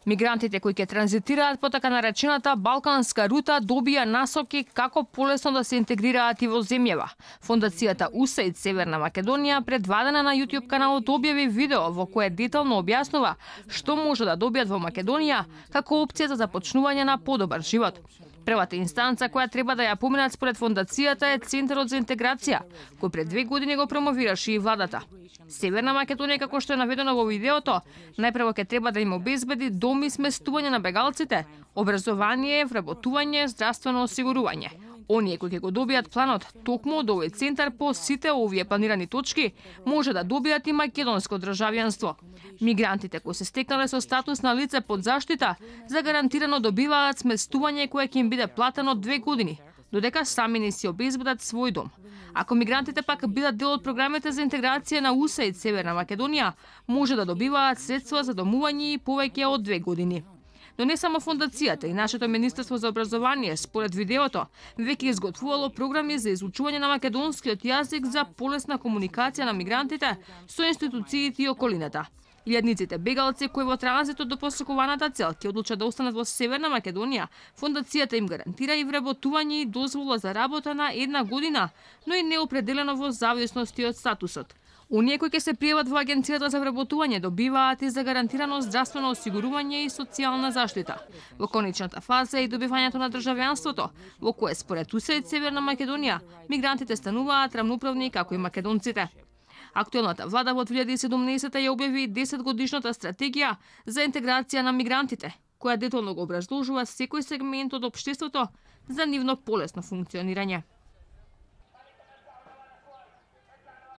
Мигрантите кои ќе транзитираат по така наречената балканска рута добија насоки како полесно да се интегрираат и во земјава. Фондацијата USAID Северна Македонија предвадена на YouTube каналот објави видео во кое детално објаснува што може да добијат во Македонија како опција за започнување на подобар живот. Првата инстанца која треба да ја поминат според фондацијата е Центарот за интеграција, кој пред 2 години го промовираше и владата. Северна Македонија, како што е наведено во видеото, најпрво ќе треба да им обезбеди дом и сместување на бегалците, образование, вработување, здравствено осигурување. Оние кои ќе го добијат планот токму од овој центар по сите овие планирани точки, може да добијат и македонско државјанство. Мигрантите кои се стекнале со статус на лице под заштита, загарантирано добиваат сместување кое ќе им биде платено 2 години, додека сами не си обезбедат свој дом. Ако мигрантите пак бидат дел од програмите за интеграција на USAID Северна Македонија, може да добиваат средства за домување и повеќе од 2 години. Но не само фондацијата и нашето Министерство за образование, според видеото, веќе изготвувало програми за изучување на македонскиот јазик за полесна комуникација на мигрантите со институциите и околината. Илјадниците бегалци кои во транзитот до посакуваната цел ќе одлучат да останат во Северна Македонија, фондацијата им гарантира и вработување и дозвола за работа на 1 година, но и неопределено во зависност од статусот. Оние кои ќе се пријават во Агенцијата за вработување добиваат и загарантирано здравствено осигурување и социјална заштита. Во конечната фаза е и добивањето на државјанството, во кое според USAID Северна Македонија мигрантите стануваат рамноправни како и македонците. Актуелната влада во 2017 ја објави 10-годишната стратегија за интеграција на мигрантите, која детално го образложува секој сегмент од општеството за нивно полесно функционирање.